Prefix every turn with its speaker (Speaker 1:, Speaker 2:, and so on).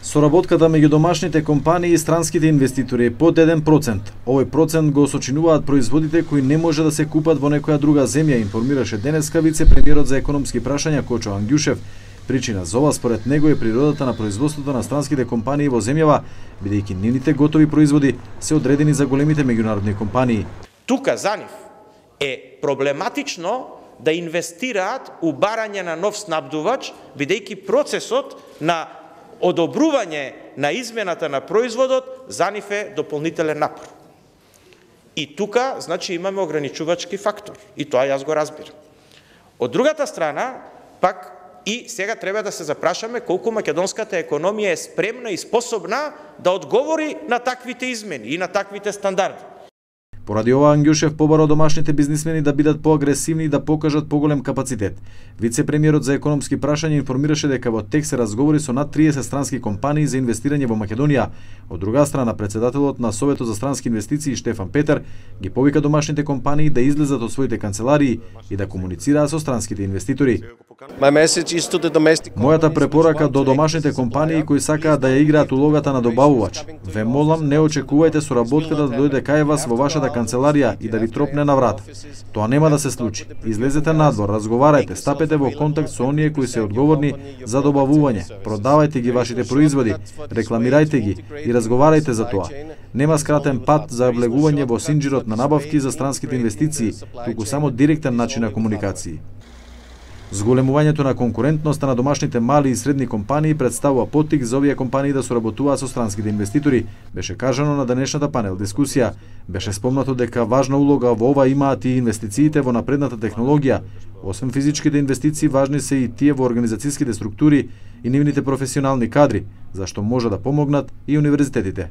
Speaker 1: Соработката меѓу домашните компании и странските инвеститори е под 1%. Овој процент го сочинуваат производите кои не може да се купат во некоја друга земја, информираше денеска вице-премиерот за економски прашања Кочо Ангјушев. Причина за ова според него е природата на производството на странските компании во земјава, бидејќи нивните готови производи се одредени за големите меѓународни компании.
Speaker 2: Тука за нив е проблематично да инвестираат у барање на нов снабдувач, бидејќи процесот на одобрување на измената на производот за нив е дополнителен напор. И тука, значи, имаме ограничувачки фактор. И тоа јас го разбирам. Од другата страна, пак, и сега треба да се запрашаме колку македонската економија е спремна и способна да одговори на таквите измени и на таквите стандарди.
Speaker 1: Поради ова Ангјушев побара домашните бизнисмени да бидат поагресивни и да покажат поголем капацитет. Вице-премиерот за економски прашања информираше дека во тек се разговори со над 30 странски компании за инвестирање во Македонија. Од друга страна, председателот на Советот за странски инвестиции Штефан Петер ги повика домашните компании да излезат од своите канцеларии и да комуницираат со странските инвеститори. Мојата препорака до домашните компании кои сакаат да ја играат улогата на добавувач. Ве молам, не очекувајте соработката да дојде кај вас во вашата канцеларија и да ви тропне на врата. Тоа нема да се случи. Излезете надвор, разговарајте, стапете во контакт со оние кои се одговорни за добавување, продавајте ги вашите производи, рекламирајте ги и разговарајте за тоа. Нема скратен пат за влегување во синџирот на набавки за странските инвестиции, туку само директен начин на комуникации. Зголемувањето на конкурентноста на домашните мали и средни компании представува поттик за овие компании да соработуваат со странските инвеститори, беше кажано на денешната панел дискусија. Беше спомнато дека важна улога во ова имаат и инвестициите во напредната технологија. Освен физичките инвестиции, важни се и тие во организацијските структури и нивните професионални кадри, зашто може да помогнат и универзитетите.